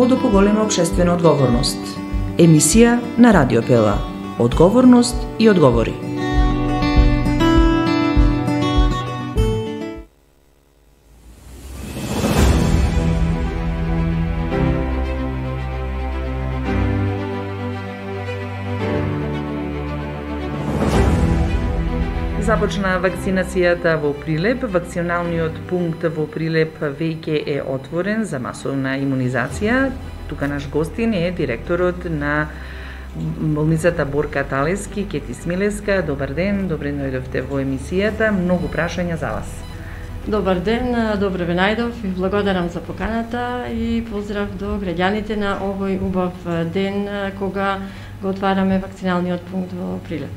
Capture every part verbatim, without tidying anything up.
до поголема општествена одговорност. Емисија на Радио Пела. Одговорност и одговори. Започна вакцинацијата во Прилеп. Вакциналниот пункт во Прилеп веќе е отворен за масовна имунизација. Тука наш гостин е директорот на болницата Борка Талески, Кети Смилевска. Добар ден, добре дојдовте во емисијата. Многу прашања за вас. Добар ден, добро ве најдов и благодарам за поканата и поздрав до граѓаните на овој убав ден кога го отвараме вакциналниот пункт во Прилеп.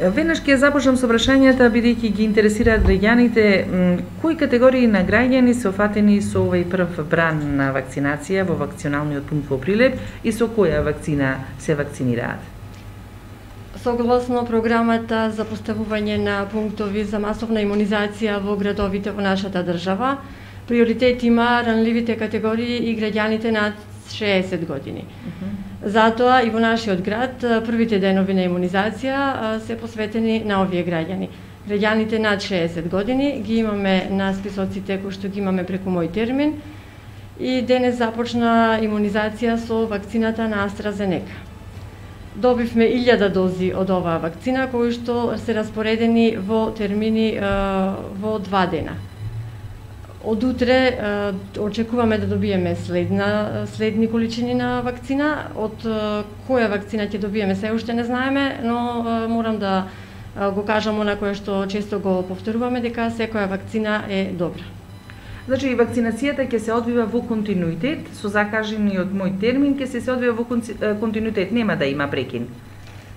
Веднаш ќе започнам со прашањата, бидејќи ги интересираат граѓаните. Кои категории на граѓани се офатени со овој прв бран на вакцинација во вакциналниот пункт во Прилеп и со која вакцина се вакцинираат? Согласно програмата за поставување на пунктови за масовна имунизација во градовите во нашата држава, приоритет има ранливите категории и граѓаните над шеесет години. Затоа и во нашиот град првите денови на имунизација се посветени на овие граѓани. Граѓаните над шеесет години ги имаме на списоците кои што ги имаме преку мој термин и денес започна имунизација со вакцината на AstraZeneca. Добивме илјада дози од оваа вакцина кои што се распоредени во термини во два дена. Од утре очекуваме да добиеме следна, следни количини на вакцина. Од која вакцина ќе добиеме се уште не знаеме, но морам да го кажам она кое што често го повторуваме, дека секоја вакцина е добра. Значи, вакцинацијата ќе се одвива во континуитет, со закажениот мој термин ќе се се одвива во континуитет, нема да има прекин.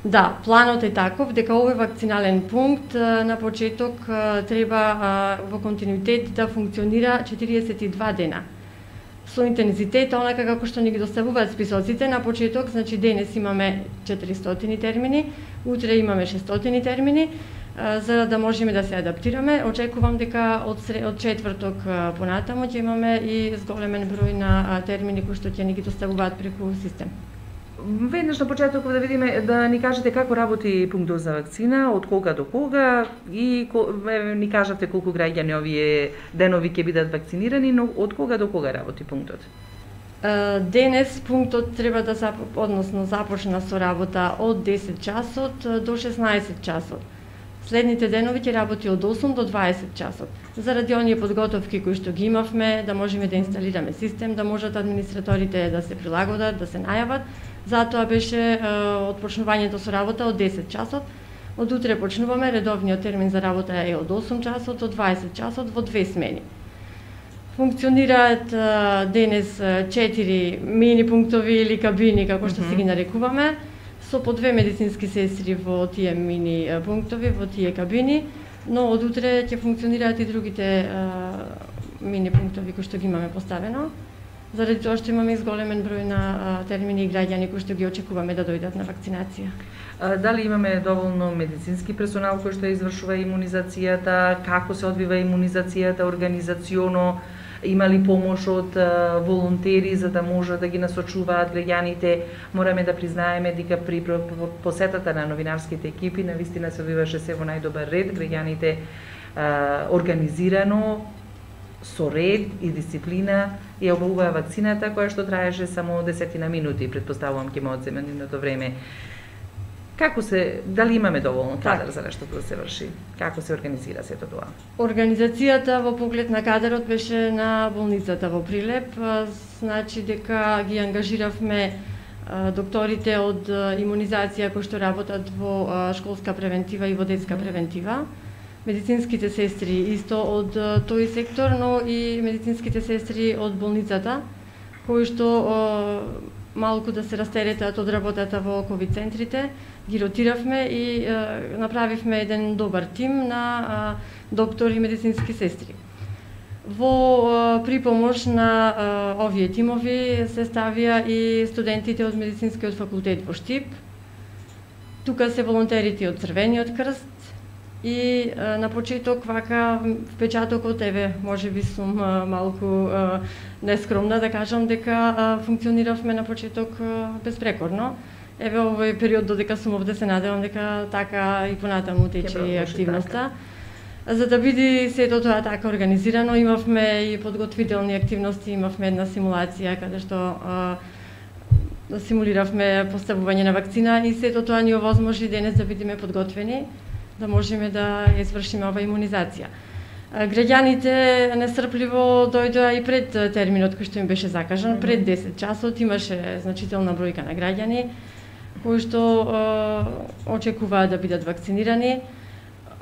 Да, планот е таков дека овој вакцинален пункт на почеток треба во континуитет да функционира четириесет и два дена. Со интензитет, онака како што ни ги доставуваат списоците, на почеток, значи денес имаме четиристотини термини, утре имаме шестстотини термини, за да можеме да се адаптираме. Очекувам дека од, од четврток понатамо ќе имаме и зголемен број на термини кои што ќе ни ги доставуваат преку систем. Веднаш на почеток да видиме, да ни кажете како работи пунктот за вакцина, од кога до кога и ни кажете колку граѓани овие денови ќе бидат вакцинирани, но од кога до кога работи пунктот? Денес пунктот треба да зап... односно започна со работа од десет часот до шеснаесет часот. Следните денови ќе работи од осум до дваесет часот. Заради оние подготовки кои што ги имавме, да можеме да инсталираме систем, да можат администраторите да се прилагодат, да се најават, затоа беше отпочнувањето со работа од десет часот. Од утре почнуваме, редовниот термин за работа е од осум часот, од дваесет часот во две смени. Функционираат денес четири мини пунктови или кабини, како што се ги нарекуваме, со по две медицински сестри во тие мини пунктови, во тие кабини, но од утре ќе функционираат и другите мини пунктови кои што ги имаме поставено, заради тоа што имаме изголемен број на термини и граѓани кои што ги очекуваме да дојдат на вакцинација. Дали имаме доволно медицински персонал кој што извршува имунизацијата, како се одвива имунизацијата организационо, има ли помош од волонтери за да може да ги насочуваат граѓаните? Мораме да признаеме дека при посетата на новинарските екипи навистина се одвиваше се во најдобар ред, граѓаните организирано, со ред и дисциплина ја обавува вакцината која што траеше само десетина минути, претпоставувам ќе ме одземе нивното време. Како се, дали имаме доволно кадар за нештото да се врши? Како се организира сето тоа? Организацијата во поглед на кадарот беше на болницата во Прилеп, значи дека ги ангажиравме докторите од имунизација кои што работат во школска превентива и во детска превентива, медицинските сестри исто од тој сектор, но и медицинските сестри од болницата, кои што малку да се растеретат од работата во ковид центрите, ги ротиравме и е, направивме еден добар тим на е, доктори и медицински сестри. Во е, припомош на е, овие тимови се ставија и студентите од медицинскиот факултет во Штип. Тука се волонтерите од Црвениот крст И на почеток вака впечатокот, еве, можеби сум малку нескромна да кажам дека функциониравме на почеток безпрекорно. Еве овој период додека сум овде се надевам дека така и понатаму тече активноста. Така. За да биде сето тоа така организирано, имавме и подготвителни активности, имавме една симулација каде што а, симулиравме поставување на вакцина и сето тоа ни овозможи денес да бидеме подготвени, да можеме да извршиме ова имунизација. Граѓаните нестрпливо дојдоа и пред терминот кој што им беше закажан, пред десет часот имаше значителна бројка на граѓани кои што е, очекуваат да бидат вакцинирани.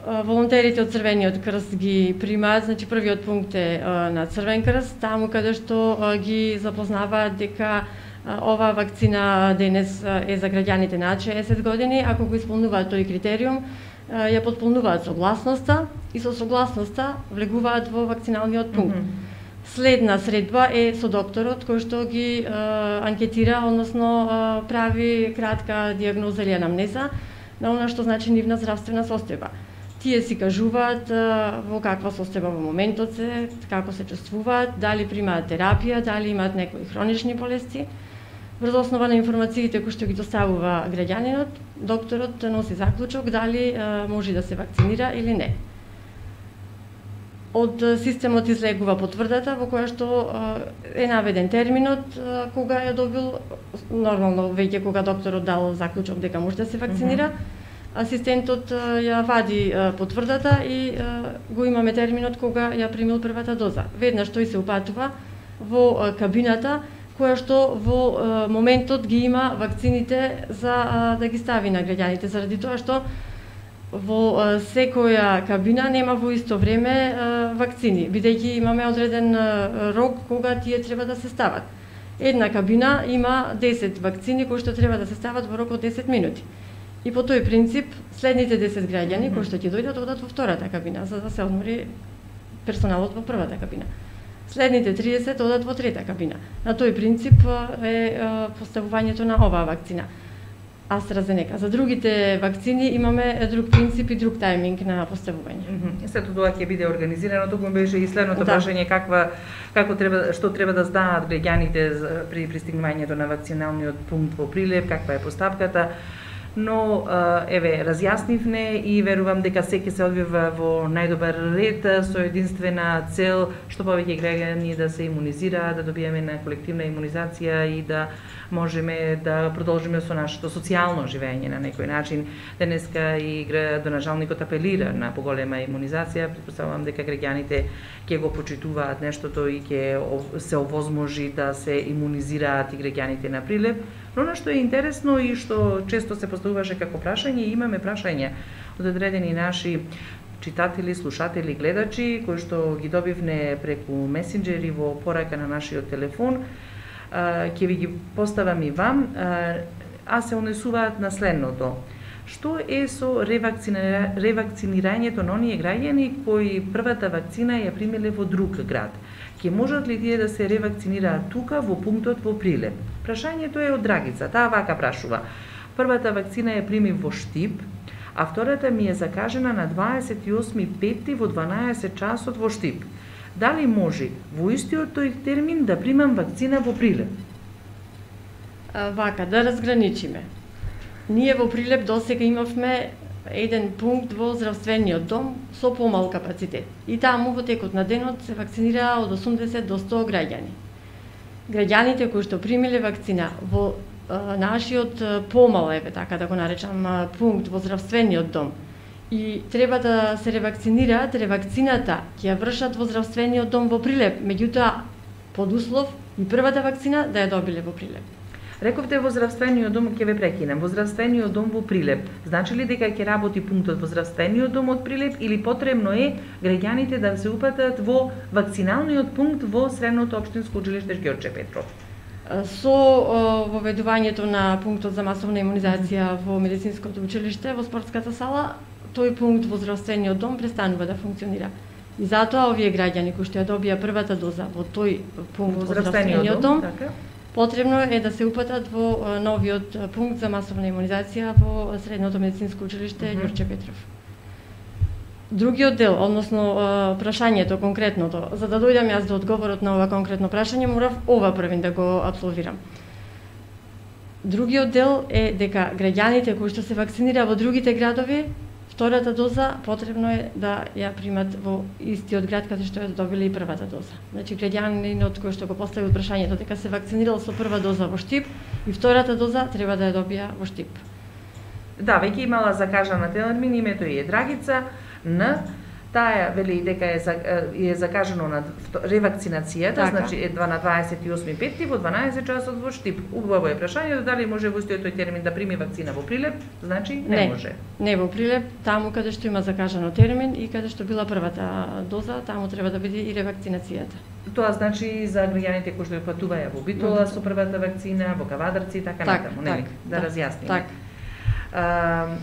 Волонтерите од Црвениот крст ги примаат, значи првиот пункт е на Црвен крст, таму каде што ги запознаваат дека ова вакцина денес е за граѓаните над шеесет години, ако го исполнуваат тој критериум, ја потполнуваат согласноста и со согласноста влегуваат во вакциналниот пункт. Mm -hmm. Следна средба е со докторот кој што ги е, анкетира, односно е, прави кратка дијагноза или анамнеза на она што значи нивна здравствена состојба. Тие си кажуваат е, во каква состојба во моментот се, како се чувствуваат, дали примаат терапија, дали имаат некои хронични болести. Врз основа на информациите кои што ги доставува граѓанинот, докторот носи заклучок дали е, може да се вакцинира или не. Од системот излегува потврдата во која што е наведен терминот кога ја добил, нормално веќе кога докторот дал заклучок дека може да се вакцинира, mm -hmm. асистентот ја вади потврдата и го имаме терминот кога ја примил првата доза. Веднаш тој се упатува во кабината која што во моментот ги има вакцините за да ги стави на граѓаните, заради тоа што во секоја кабина нема во исто време вакцини, бидејќи имаме одреден рок кога тие треба да се стават. Една кабина има десет вакцини кои што треба да се стават во рок од десет минути. И по тој принцип, следните десет граѓани кои што ќе дојдат одат во втората кабина, за да се одмори персоналот во првата кабина. Следните триесет одат во трета кабина. На тој принцип е поставувањето на оваа вакцина. AstraZeneca. За другите вакцини имаме друг принцип и друг тајминг на поставување. Mm -hmm. Сето тоа ќе биде организирано, туку беше и следното да. прашање каква како треба што треба да знаат граѓаните при пристигнувањето на вакциналниот пункт во Прилеп, каква е постапката. Но еве разјаснивме и верувам дека секи се одвива во најдобар ред со единствена цел што повеќе граѓани да се имунизираат, да добиеме на колективна имунизација и да можеме да продолжиме со нашето социјално живење на некој начин. Денеска и градоначалникот апелира на поголема имунизација, претпоставувам дека граѓаните ќе го почитуваат нештото и ќе се овозможи да се имунизираат и граѓаните на Прилеп. Но на што е интересно и што често се поставуваше како прашање, имаме прашања од одредени наши читатели, слушатели, гледачи, кои што ги добивне преку месенџери во порака на нашиот телефон, ќе ви ги поставам и вам, а се однесуваат на следното. Што е со ревакцинира... ревакцинирањето на оние граѓани кои првата вакцина ја примиле во друг град? Ке можат ли тие да се ревакцинираат тука во пунктот во Прилеп? Прашањето е од Драгица, таа вака прашува. Првата вакцина ја примив во Штип, а втората ми е закажена на дваесет и осми пети во дванаесет часот во Штип. Дали може во истиот тој термин да примам вакцина во Прилеп? Вака, да разграничиме. Ние во Прилеп досега имавме еден пункт во здравствениот дом со помал капацитет. И таму во текот на денот се вакцинираа од осумдесет до сто граѓани. Граѓаните кои што примиле вакцина во а, нашиот помал, еве така да го наречам, пункт во здравствениот дом и треба да се ревакцинираат, ревакцината ќе ја вршат во здравствениот дом во Прилеп, меѓутоа под услов и првата вакцина да ја добиле во Прилеп. Рековте во здравствениот дом, ќе ве прекинам, во здравствениот дом во Прилеп. Значи ли дека ќе работи пунктот во здравствениот дом од Прилеп или потребно е граѓаните да се упатат во вакциналниот пункт во Средното општинско училиште Ѓорче Петров? Со воведувањето на пунктот за масовна имунизација во медицинското училиште во спортската сала, тој пункт во здравствениот дом престанува да функционира. И затоа овие граѓани кои што ја добија првата доза во тој пункт во здравствениот дом, така? Потребно е да се упатат во новиот пункт за масовна имунизација во Средното медицинско училиште mm -hmm. Ѓорче Петров. Другиот дел, односно прашањето конкретното, за да дојдам јас до одговорот на ова конкретно прашање, морав ова првин да го апсолвирам. Другиот дел е дека граѓаните кои што се вакцинира во другите градови, втората доза потребно е да ја примат во истиот град каде што ја добиле и првата доза. Значи граѓанинот кој што го поставил прашањето дека се вакцинирал со прва доза во Штип и втората доза треба да ја добија во Штип. Да, веќе имала закажана термин, името е Драгица Н. Таа вели дека е, е закажано на ревакцинацијата, така. Значи е на дваесет и осми пети во дванаесет часот во Штип. Убаво е прашањето дали може во истиот тој термин да прими вакцина во Прилеп, значи не, не може. Не во Прилеп, таму каде што има закажано термин и каде што била првата доза, таму треба да биде и ревакцинацијата. Тоа значи за граѓаните кои што патуваја во Битола со првата вакцина, во Кавадарци и така так, натаму, так, нели? Да, да разјасниме. Так. Uh,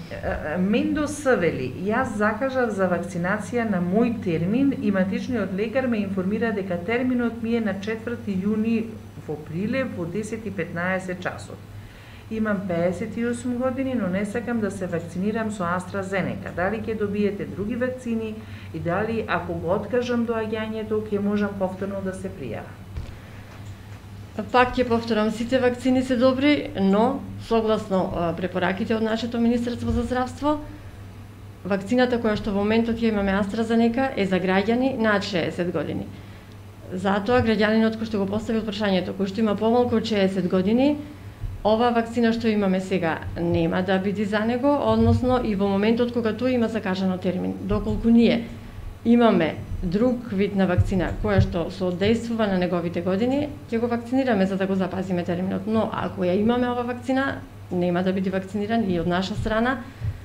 Мендо Савели, јас закажав за вакцинација на мој термин и матичниот лекар ме информира дека терминот ми е на четврти јуни во Прилеп во десет и петнаесет часот. Имам пеесет и осум години, но не сакам да се вакцинирам со AstraZeneca. Дали ќе добиете други вакцини и дали ако го откажам доаѓањето ќе можам повторно да се пријавам? Пак ќе повторам, сите вакцини се добри, но согласно препораките од нашето Министерство за здравство, вакцината која што во моментот ја имаме AstraZeneca е за граѓани над шеесет години. Затоа граѓанинот кој што го поставил прашањето, кој што има помалку од шеесет години, ова вакцина што имаме сега нема да биде за него, односно и во моментот кога тој има закажано термин. Доколку ние имаме друг вид на вакцина која што соодействува на неговите години, ќе го вакцинираме за да го запазиме терминот. Но ако ја имаме ова вакцина, нема да биде вакциниран и од наша страна.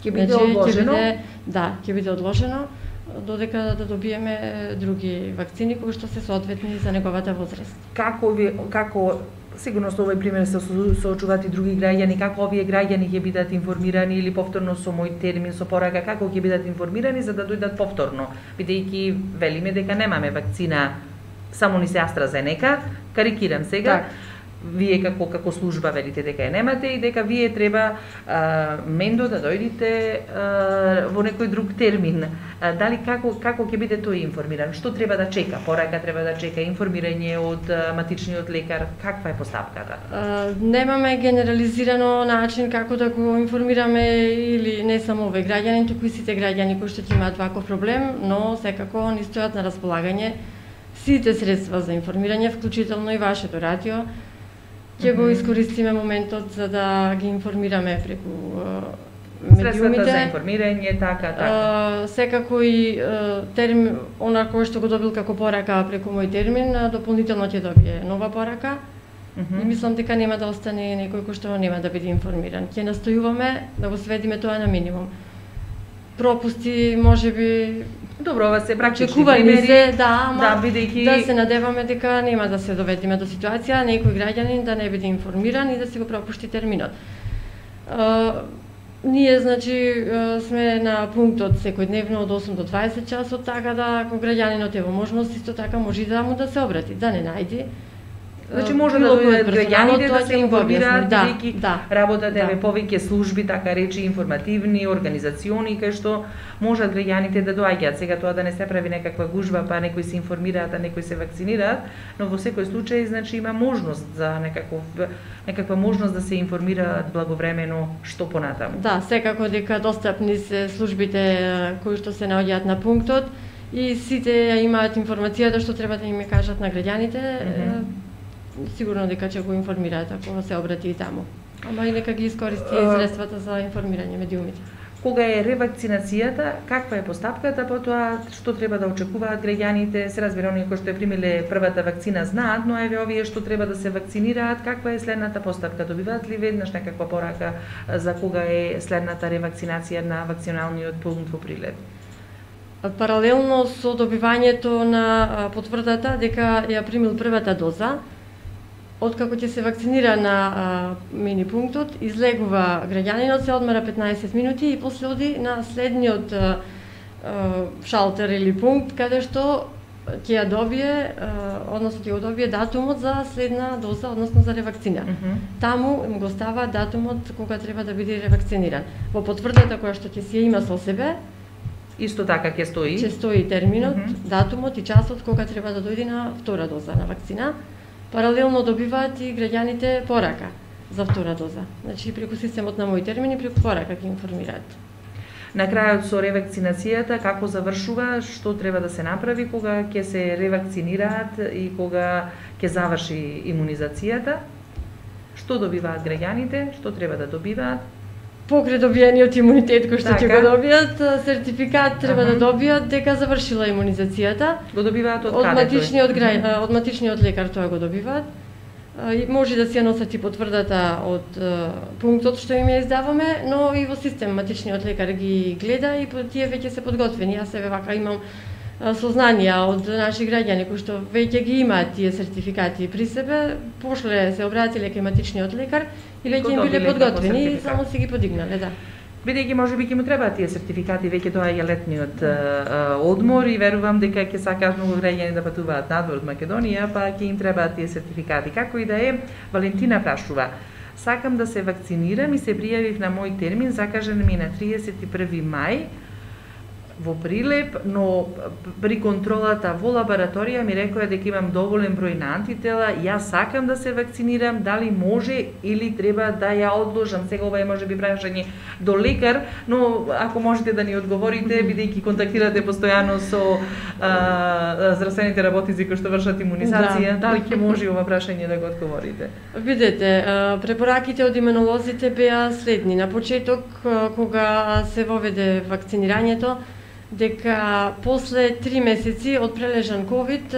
Ќе биде значи, одложено? Ќе биде, да, ќе биде одложено додека да добиеме други вакцини кои што се соодветни за неговата возраст. Како ви, како сигурно со овој пример се соочуваат и други граѓани, како овие граѓани ќе бидат информирани или повторно со мој термин, со порака, како ќе бидат информирани за да дојдат повторно, бидејќи велиме дека немаме вакцина, само ни се AstraZeneca, карикирам сега, так. Вие како како служба велите дека ја немате и дека вие треба а, Мендо да дојдите а, во некој друг термин. А, дали како како ќе биде тој информиран? Што треба да чека? Порака треба да чека информирање од а, матичниот лекар? Каква е постапката? А, немаме генерализирано начин како да го информираме или не само овој граѓани, туку и сите граѓани кои што имаат ваков проблем, но секако ни стојат на располагање сите средства за информирање, вклучително и вашето радио. Ќе го искористиме моментот за да ги информираме преку медиумите. Средствата за информирање, така, така. А, секако и термин, она кој што го добил како порака преку мој термин, дополнително ќе добие нова порака. Uh -huh. И мислам дека нема да остане некој кој што нема да биде информиран. Ќе настојуваме да го сведиме тоа на минимум. Пропусти, можеби добро, ова се практични примери, се, да, ама да, бидејќи да се надеваме дека нема да се доведеме до ситуација некој граѓанин да не биде информиран и да се го пропушти терминот. А, ние, значи, сме на пунктот секојдневно од осум до дваесет часот, така да ако граѓанинот е во можност, исто така може и да му да се обрати, да не најди. Значи може да дојдат граѓаните да се информираат, да, бидејќи да, работате да. ве повеќе служби, така речи информативни, организациони, кај што можат граѓаните да доаѓаат. Сега тоа да не се прави некаква гужва, па некои се информираат, а некои се вакцинираат, но во секој случај значи има можност за некаков некаква можност да се информираат благовремено што понатаму. Да, секако дека достапни се службите кои што се наоѓаат на пунктот и сите имаат информацијата што треба да им кажат на граѓаните. Mm -hmm. Сигурно дека ќе го информираат ако се обрати и таму. Ама и нека ги искористи uh, средствата за информирање медиумите. Кога е ревакцинацијата, каква е постапката, потоа што треба да очекуваат граѓаните? Се разбира, оние кои што ја примиле првата вакцина знаат, но еве овие што треба да се вакцинираат, каква е следната постапка? Добиваат ли веднаш некаква порака за кога е следната ревакцинација на вакциналниот пункт во Прилеп? Паралелно со добивањето на потврдата дека ја примил првата доза, откако ќе се вакцинира на а, мини пунктот, излегува граѓанинот, се одмара петнаесет минути и после оди на следниот а, а, шалтер или пункт каде што ќе ја добие, а, односно ќе го добие датумот за следна доза, односно за ревакцина. Mm -hmm. Таму им го става датумот кога треба да биде ревакциниран. Во потврдата која што ќе си ја има со себе, Исто така ќе стои? Ќе стои терминот, mm -hmm. датумот и часот кога треба да дојде на втора доза на вакцина. Паралелно добиваат и граѓаните порака за втора доза. Значи преку системот на мој термини, преку порака ќе информираат. На крајот со ревакцинацијата како завршува, што треба да се направи кога ќе се ревакцинираат и кога ќе заврши имунизацијата? Што добиваат граѓаните, што треба да добиваат? Покрај добиениот имунитет кој што ќе така. го добијат, сертификат треба uh -huh. да добијат дека завршила имунизацијата. Го добиваат од, од каде матичниот тој? грај, од матичниот лекар тоа го добиваат. И може да си ја носат и потврдата од пунктот што им ја издаваме, но и во систем матичниот лекар ги гледа и тие веќе се подготвени. Јас себе вака имам сознанија од наши граѓани кои што веќе ги имаат тие сертификати при себе, пошле се обратиле кај матичниот лекар и веќе им биле подготвени и само си ги подигнале, да. Бидејќи можеби ќе му требаат тие сертификати, веќе тоа е летниот а, одмор и верувам дека ќе сакаат многу граѓани да патуваат надвор од Македонија, па ќе им требаат тие сертификати. Како и да е, Валентина прашува: сакам да се вакцинирам и се пријавив на мој термин, закажан ми е на триесет и први мај во Прилеп, но при контролата во лабораторија ми рекоа дека имам доволен број на антитела, јас сакам да се вакцинирам, дали може или треба да ја одложам? Сега ова е можеби прашање до лекар, но ако можете да ни одговорите, бидејќи контактирате постојано со а, здравствените работници кои што вршат имунизација, да. Дали ќе може ова прашање да го одговорите? Видете, препораките од имунолозите беа следни. На почеток, кога се воведе вакцинирањето, дека после три месеци од прележан ковид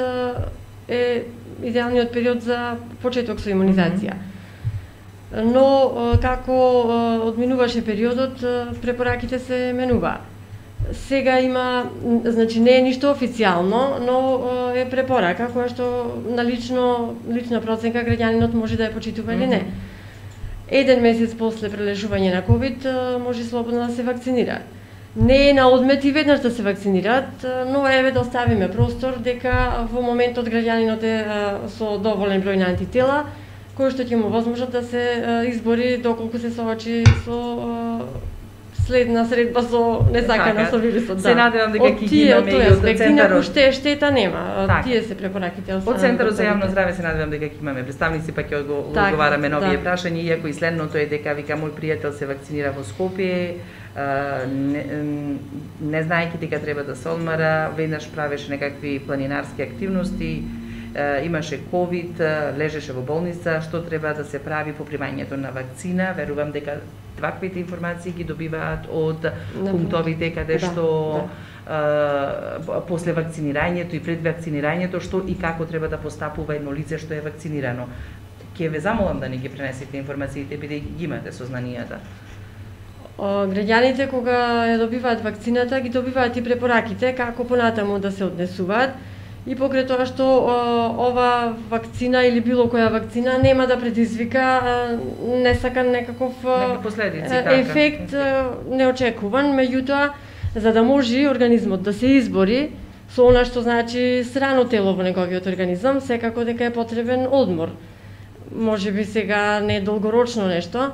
е идеалниот период за почеток со имунизација. Mm-hmm. Но како одминуваше периодот, препораките се менуваа. Сега има, значи не е ништо официјално, но е препорака која што на лично лична проценка граѓанинот може да ја почитува или не. Еден месец после прележување на ковид може слободно да се вакцинира. Не е на одмет и веднаш да се вакцинираат, но еве да оставиме простор дека во моментот граѓанинот е со доволен број на антитела, кој што ќе му возможат да се избори доколку се соочи со следна средба со несакана со вирусот. Се надевам дека ќе ги имаме и од центарот. Ште штета нема. Така. Тие се препораките од Од центарот за јавно здраве се надевам дека ќе имаме представници, па ќе одговараме на овие да. прашања, иако и следното е дека вика мој пријател се вакцинира во Скопје, не, не знаејќи дека треба да се одмара, веднаш правеше некакви планинарски активности, имаше ковид, лежеше во болница, што треба да се прави по примањето на вакцина. Верувам дека ваквите информации ги добиваат од пунктовите каде што да, да. после вакцинирањето и пред вакцинирањето што и како треба да постапува едно лице што е вакцинирано. Ќе ве замолам да ни ги пренесете информациите, бидејќи ги имате сознанијата. Граѓаните кога ја добиваат вакцината, ги добиваат и препораките како понатаму да се однесуваат. И покрај тоа што ова вакцина или било која вакцина нема да предизвика несакан некаков ефект неочекуван, меѓутоа за да може организмот да се избори со она што значи срано тело во неговиот организам, секако дека е потребен одмор. Можеби сега не долгорочно нешто,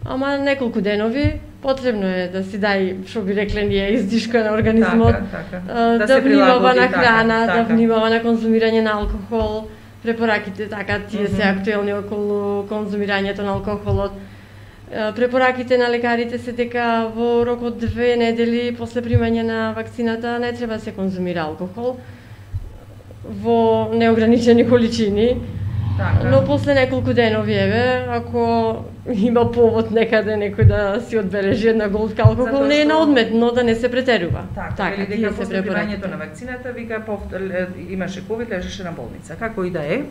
ама неколку денови потребно е да си дај, што би рекле ние, издишка на организмот, така, така. да, да внимава на храна, така, така. да внимава на конзумирање на алкохол. Препораките така тие mm -hmm. се актуелни околу конзумирањето на алкохолот. Препораките на лекарите се дека во рок од две недели после примање на вакцината не треба да се конзумира алкохол во неограничени количини. Така. Но после неколку денови, еве, ако има повод некаде некој да си одбележи една голтка алкохол, не е на одмет, но да не се претерува. Така, така или дека после примањето на вакцината, вика, имаше ковид, лежеше на болница. Како и да е.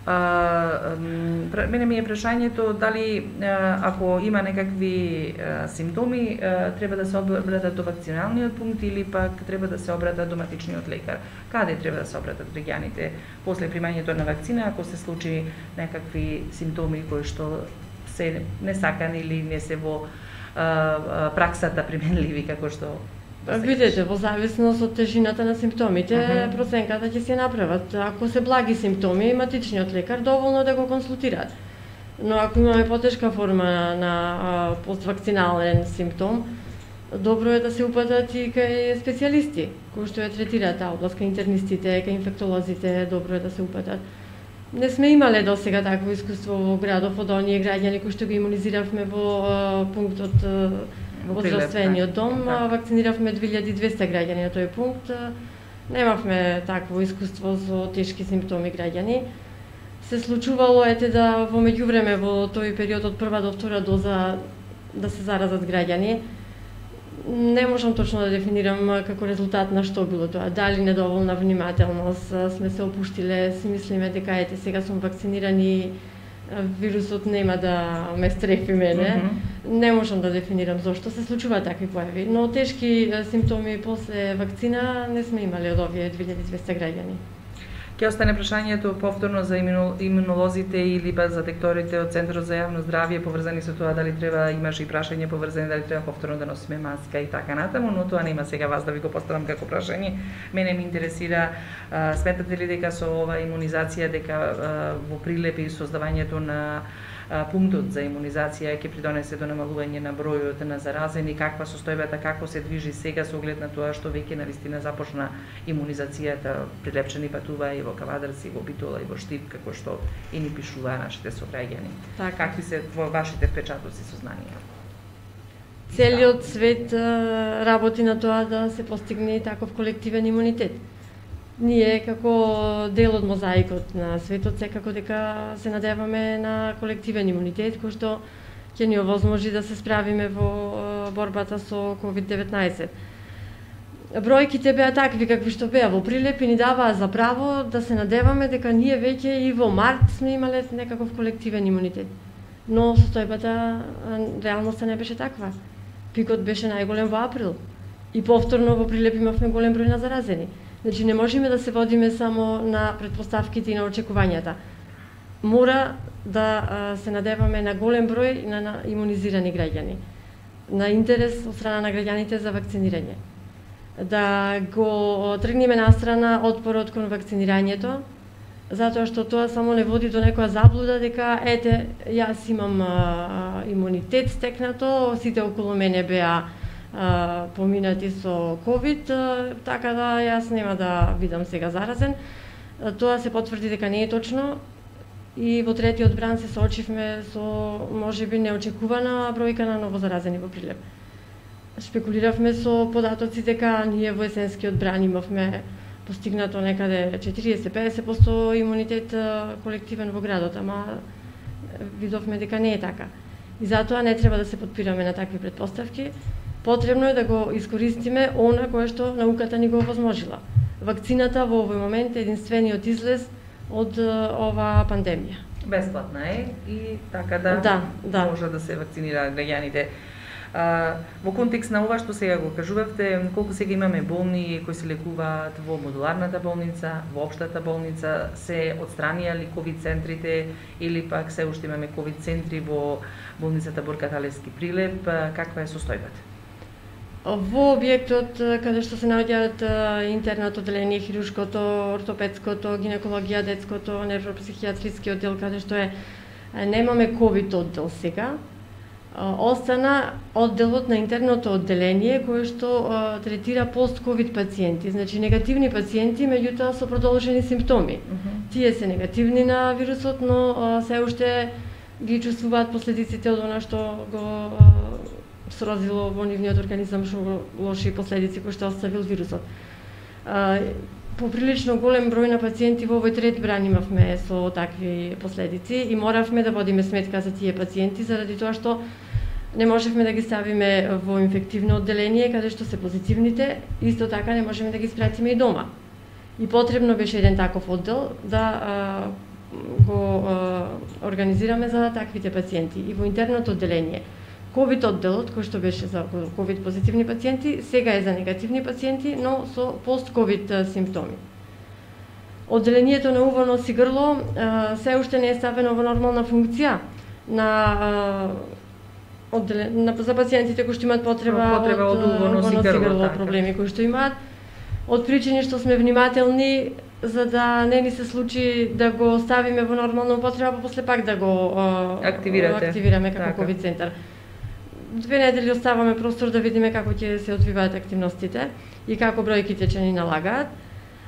А, мене ми е прашањето дали ако има некакви а, симптоми а, треба да се обратат до вакциналниот пункт или пак треба да се обратат до матичниот лекар. Каде треба да се обратат граѓаните после примањето на вакцина ако се случи некакви симптоми кои што се несакани или не се во а, а, праксата применливи како што Видете, во зависност од тежината на симптомите, uh -huh. проценката ќе се направат. Ако се благи симптоми, матичниот лекар доволно да го консултираат. Но ако имаме потешка форма на а, поствакцинален симптом, добро е да се упатат и кај специјалисти, кои што ја третираат таа област, кај интернистите, кај инфектолозите, добро е да се упатат. Не сме имале досега такво искуство во градов од оние граѓани кои што ги имунизиравме во пунктот во здравствениот дом, да. Вакциниравме две илјади и двесте граѓани на тој пункт. Немавме такво искуство со тешки симптоми граѓани. Се случувало ете да во меѓувреме во тој период од прва до втора доза да се заразат граѓани. Не можам точно да дефинирам како резултат на што било тоа. Дали недоволна внимателност, сме се опуштиле, си мислиме дека ете сега сум вакциниран и вирусот нема да ме стрефи мене. Mm -hmm. Не можам да дефинирам зошто се случуваат такви појави, но тешки симптоми после вакцина не сме имали од овие две илјади и двесте граѓани. Ќе остане прашањето повторно за имунолозите или па за докторите од Центарот за јавно здравје поврзани со тоа дали треба, имаше и прашање поврзани дали треба повторно да носиме маска и така натаму, но тоа нема сега вас да ви го поставам како прашање. Мене ме интересира, а, сметате ли дека со ова имунизација дека а, во Прилеп и создавањето на а, пунктот за имунизација ќе придонесе до намалување на бројот на заразени, каква состојбата, како се движи сега со оглед на тоа што веќе навистина започна имунизацијата, Прилепчани патува и во Кавадарци, во Битола и во Штип, како што и ни пишуваа нашите сограѓани. Так. Какви се во вашите впечатоци, сознанија? Целиот свет работи на тоа да се постигне таков колективен имунитет. Ние како дел од мозаикот на светот секако дека се надеваме на колективен имунитет кој што ќе ни овозможи да се справиме во борбата со ковид деветнаесет. Бројките беа такви какви што беа во Прилеп и ни даваа за право да се надеваме дека ние веќе и во март сме имале некаков колективен имунитет. Но состојбата, реалноста не беше таква. Пикот беше најголем во април и повторно во Прилеп имавме голем број на заразени. Значи не можеме да се водиме само на претпоставките и на очекувањата. Мора да а, се надеваме на голем број на, на имунизирани граѓани, на интерес од страна на граѓаните за вакцинирање. Да го тргнеме настрана отпорот кон вакцинирањето, затоа што тоа само не води до некоја заблуда дека ете јас имам а, имунитет стекнато, сите околу мене беа а, поминати со ковид, а, така да јас нема да бидам сега заразен. А, тоа се потврди дека не е точно и во третиот бран се соочивме со можеби неочекувана бројка на новозаразени во Прилеп. Шпекулиравме со податоци дека ние во есенскиот бран имавме постигнато некаде четириесет до педесет проценти имунитет колективен во градот, ама видовме дека не е така. И затоа не треба да се подпираме на такви претпоставки. Потребно е да го искористиме она кое што науката ни го овозможила. Вакцината во овој момент е единствениот излез од оваа пандемија. Бесплатна е и така да, да, да. може да се вакцинираат граѓаните. А, во контекст на ова што сега го кажувавте, колку сега имаме болни кои се лекуваат во модуларната болница, во општата болница, се отстранија ли ковид центрите или пак се уште имаме ковид центри во болницата Борка Талевски Прилеп, каква е состојбата? Во објектот каде што се наоѓаат интернат одделение, хируршкото, ортопедското, гинекологија, детското, невропсихијатриски оддел, каде што е немаме ковид оддел сега, остана одделот на интерното одделение кој што а, третира пост-ковид пациенти, значи негативни пациенти, меѓутоа со продолжени симптоми. Uh -huh. Тие се негативни на вирусот, но а, се уште ги чувствуваат последиците од она што го а, срозило во нивниот организам, што лоши последици кои што оставил вирусот. А, Поприлично голем број на пациенти во овој трет бран имавме со такви последици и моравме да водиме сметка за тие пациенти заради тоа што не можевме да ги ставиме во инфективно одделение каде што се позитивните, исто така не можеме да ги спратиме и дома. И потребно беше еден таков оддел да а, го а, организираме за таквите пациенти. И во интерното одделение ковид одделот, кој што беше за ковид позитивни пациенти, сега е за негативни пациенти, но со пост-ковид симптоми. Одделението на уво, нос и грло се уште не е ставено во нормална функција на одделен, на за пациентите кои што имаат потреба, потреба од, од уво, нос и грло, проблеми кои што имаат. Од причини што сме внимателни за да не ни се случи да го ставиме во нормална употреба, па после пак да го активирате. активираме како ковид центар. две недели оставаме простор да видиме како ќе се одвиваат активностите и како бројките ќе ни налагаат.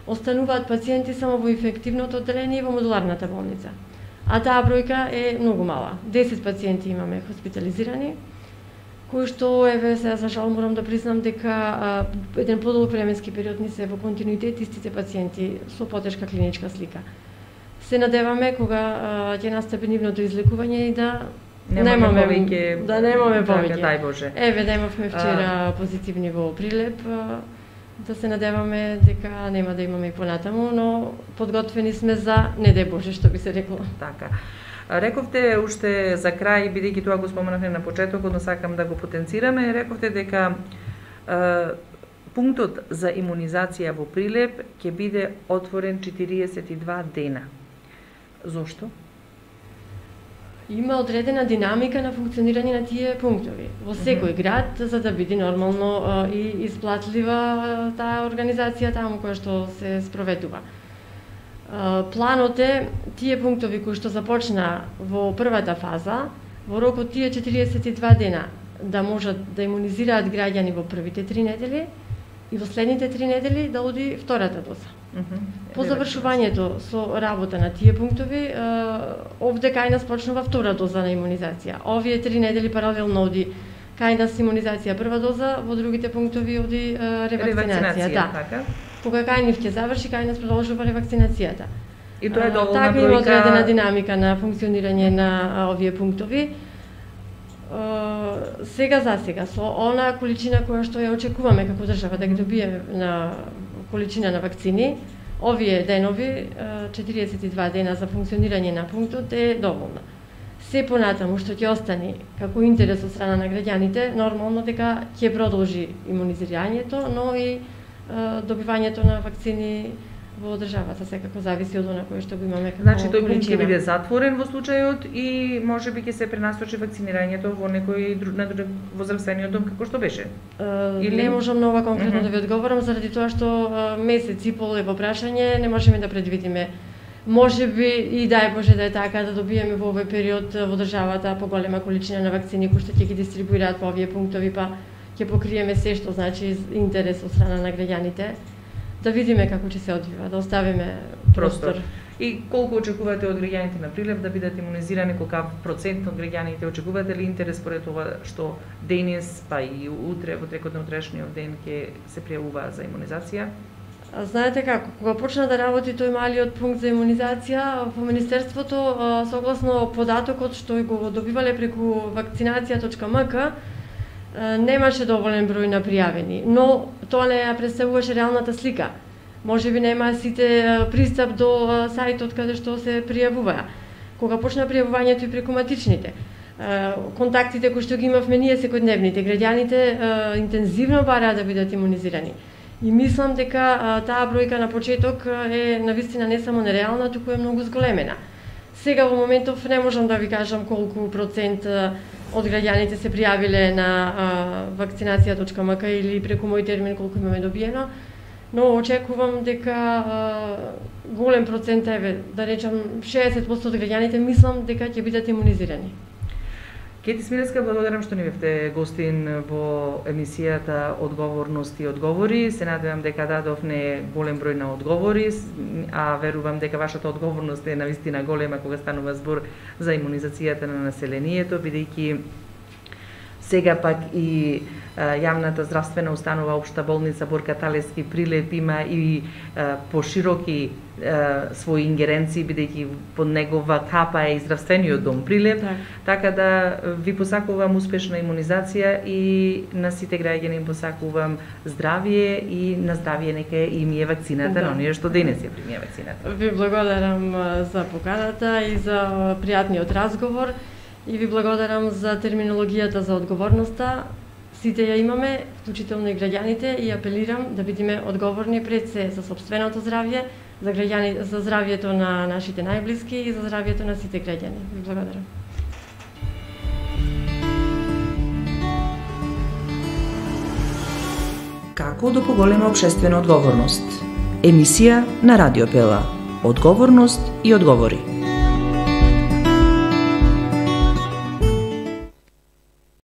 Остануваат пациенти само во инфективното одделение и во модуларната болница. А таа бројка е многу мала. десет пациенти имаме хоспитализирани, кои што, еве, сега за жал морам да признам дека а, еден подолг временски период ни се во континуитет истите пациенти со потешка клиничка слика. Се надеваме кога а, ќе настапи нивното излекување и да немаме немаме повеќе, да немаме повеќе. Дај Боже. Еве, да имавме вчера а... позитивни во Прилеп, а, да се надеваме дека нема да имаме и понатаму, но подготвени сме за не дај Боже, што би се рекло. Така. Рековте уште за крај, бидејќи тоа го споменавме на почетокот, но сакам да го потенцираме, рековте дека е, пунктот за имунизација во Прилеп ќе биде отворен четириесет и два дена. Зошто? Има одредена динамика на функционирање на тие пунктови во секој град, за да биде нормално а, и исплатлива таа организација таму која што се спроведува. А, планот е тие пунктови кои што започна во првата фаза, во рок од тие четириесет и два дена да можат да имунизираат граѓани во првите три недели и во следните три недели да оди втората доза. Uh -huh. По завршувањето со работа на тие пунктови, овде кај нас почнува втора доза на имунизација. Овие три недели паралелно оди кај нас имунизација прва доза, во другите пунктови оди ревакцинација. Да. Така. Кога кај нив ќе заврши, кај нас продолжува ревакцинацијата. И тоа е доволна така, бројка. Така има одредена динамика на функционирање на овие пунктови. Сега за сега, со она количина која што ја очекуваме како држава да ги добиеме на количина на вакцини, овие денови, четириесет и два дена за функционирање на пунктот е доволна. Се понатаму што ќе остани како интерес од страна на граѓаните, нормално дека ќе продолжи имунизирањето, но и добивањето на вакцини во државата секако зависи од она кое што го имаме како Значи тој пункт ќе количина. биде затворен во случајот и можеби ќе се пренасочи вакцинирањето во некој друг на друг во здравствениот дом како што беше. Uh, Или... Не можам на ова конкретно uh -huh. да ви одговорам заради тоа што uh, месец и пол е во прашање, не можеме да предвидиме. Можеби и дај Боже да е така да добиеме во овој период во државата поголема количина на вакцини кои што ќе ги дистрибуираат по овие пунктови, па ќе покриеме се што значи интерес од страна на граѓаните. Да видиме како ќе се одвива, да оставиме простор. простор. И колку очекувате од граѓаните на Прилеп да бидат имунизирани, колка процент од граѓаните очекувате ли интерес според ова што денес, па и утре, во текот на утрешниот ден ќе се пријавуваат за имунизација? А, знаете како, кога почна да работи тој малиот пункт за имунизација, во Министерството, согласно податокот што го добивале преку вакцинација точка ем ка, немаше доволен број на пријавени, но тоа не ја представуваше реалната слика. Може би нема сите пристап до сајтот каде што се пријавува. Кога почна пријавувањето и преку матичните, контактите кои што ги имавме ние секојдневните, граѓаните интензивно бараа да бидат имунизирани. И мислам дека таа бројка на почеток е навистина не само нереална, туку е многу зголемена. Сега во моментов не можам да ви кажам колку процент од граѓаните се пријавиле на вакцинација точка ем ка или преку мој термин колку имаме добиено, но очекувам дека а, голем процент, еве, да речам шеесет проценти од граѓаните мислам дека ќе бидат имунизирани. Кети Смилевска, благодарам што ни бевте гостин во емисијата Одговорност и одговори. Се надевам дека дадовме голем број на одговори, а верувам дека вашата одговорност е навистина голема кога станува збор за имунизацијата на населението, бидејќи сега пак и јавната здравствена установа Општа болница Борка Талевски Прилеп има и а, пошироки а, своји ингеренции, бидејќи под негова капа е и здравствениот дом Прилеп, Так. така да ви посакувам успешна имунизација и на сите граѓани им посакувам здравие и на здравие нека им е вакцината, Да. на оние што денес ја примија вакцината. Ви благодарам а, за поканата и за а, пријатниот разговор и ви благодарам за терминологијата за одговорноста. Сите ја имаме, вклучително и граѓаните, и апелирам да бидеме одговорни пред се за сопственото здравје, за граѓани, за здравјето на нашите најблиски и за здравјето на сите граѓани. Ви благодарам. Како да поголема општествена одговорност? Емисија на Радио Пела. Одговорност и одговори.